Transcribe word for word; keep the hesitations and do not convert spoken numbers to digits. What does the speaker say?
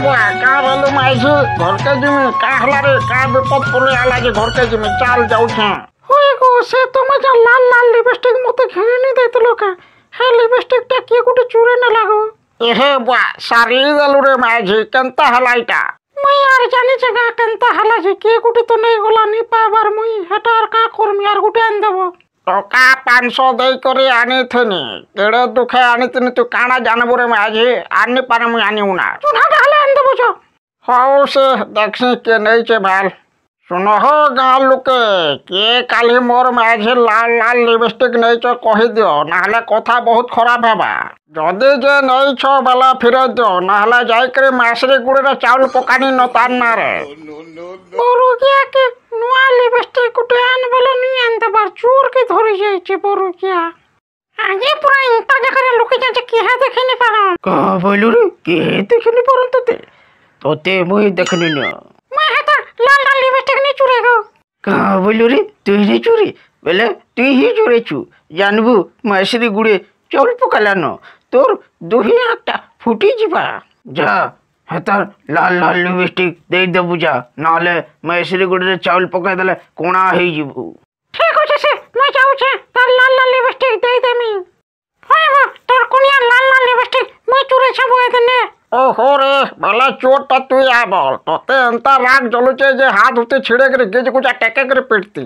ବୁଆ, କାଁ ବୋଲୁ ମାଇଝି? ଘରକେ ଯିମି। କାଁ ହେଲା ରେ? କାଁ ବିପଦ ପଡି ଆଲା ଯେ ଘରକେ ଯିମି? ଚାଲ, ଯାଉଛେଁ। ହଇ ଗୋ, ସେ ତମେ ଯା ଲାଲ ଲାଲ ଲିପଷ୍ଟିକ୍ ମତେ ଘିଣି ଦେଇଥିଲ କା, ହେ ଲିପଷ୍ଟିକଟା କିଏ ଗୋଟେ ଚୁରେଇ ନେଲା ଗୋ। ଏହେ ବୁଆ, ସାରି ଦେଲୁ ରେ ମାଇଝି, କେନ୍ତା ହେଲା ଇଟା? ମୁଇଁ ଆର ଜାନିଛେ ଗା କେନ୍ତା ହେଲା ଯେ, କିଏ ଗୋଟେ ତ ନେଇଗଲା, ନି ପାଇବାର ମୁଇଁ ହେଟା ଆର କାଁ କରମି? ଆର ଗୋଟେ ଆଣିଦେବ। ଟଙ୍କା ପାଞ୍ଚଶହ ଦେଇକରି ଆଣିଥିନି, କେଡ଼େ ଦୁଃଖେ ଆଣିଥିନି, ତୁ କାଣା ଜାଣିବୁ ରେ ମାଝି? ଆନି ପାରେ ମୁଇଁ ଆନିବୁ ନା। ଚୁନାଟା ହେଲେ ଆଣିଦେବ ଯ। ହଉ, ସେ ଦେଖସି କିଏ ନେଇଛେ। ଭାଲ ଶୁଣ ହୋ ଗାଁ ଲୋକେ, କିଏ କାଲି ମୋର ମାଝି ଲାଲ ଲାଲ ଲିପଷ୍ଟିକ୍ ନେଇଛ କହିଦିଅ, ନହେଲେ କଥା ବହୁତ ଖରାପ ହେବା। ଯଦି ଯେ ନେଇଛ ବେଲା ଫିରେଇ ଦିଅ, ନହେଲେ ଯାଇକରି ମାସରି ଗୁଡ଼ରେ ଚାଉଳ ପକାନି ନ ତାର ନାଁରେ। ବରୁକିଆ କେ ନୂଆ ଲିପଷ୍ଟିକ୍ ଗୋଟେ ଆନ ବେଲେ ନି ଆଣିଦେବାର, ଚୋର କେ ଧରି ଯାଇଛି ବରୁକିଆ। ଆଜି ପୁରା ଇନ୍ତା ଜାଗାରେ ଲୁକି ଯାଉଛି, କିହା ଦେଖିନି ପାରନ୍। କାହା ବୋଇଲୁ ରେ? କିଏ ଦେଖିନି ପାରନ୍ ତତେ? ତତେ ମୁଇଁ ଦେଖିନି ନା। ମୁଇଁ ହେତା ଲାଲ ଲାଲ ଲିପଷ୍ଟିକ୍ ନି ଚୁରେ ଗୋ। କାହା ବୋଇଲୁ ରେ? ତୁଇ ନି ଚୁରି ବେଲେ ତୁଇ ହିଁ ଚୁରେଛୁ, ଜାନବୁ, ମାସରି ଗୁଡ଼େ ଚାଉଳ ପକାଲାନ, ତୋର ଦୁହି ଆଁଖଟା ଫୁଟି ଯିବା। ଯା, ହେତା ଲାଲ ଲାଲ ଲିପଷ୍ଟିକ୍ ଦେଇଦେବୁ ଯା, ନହେଲେ ମେସିରି ଗୁଡ଼ରେ ଚାଉଳ ପକାଇଦେଲେ କଣା ହେଇଯିବୁ। ଠିକ ଅଛି ସେ, ମୁଇଁ ଯାଉଛେ, ତାର ଲାଲ ଲାଲ ଲିପଷ୍ଟିକ୍ ଦେଇଦେମି। ହଏ ବା, ତୋର କୁନିଆ ଲାଲ ଲାଲ ଲିପଷ୍ଟିକ୍ ମୁଇଁ ଚୁରେଛେ ବୋଏ ନେ। ଓହୋ ରେ, ବେଲେ ଚୋରଟା ତୁଇ ଆ ବଲ। ତତେ ଏନ୍ତା ରାଗ ଜଲୁଛେ ଯେ ହାତ ହୁତେ ଛିଡ଼େଇ କରି ଗିଜ ଗୁଜା ଟେକେ କରି ପିଟତି।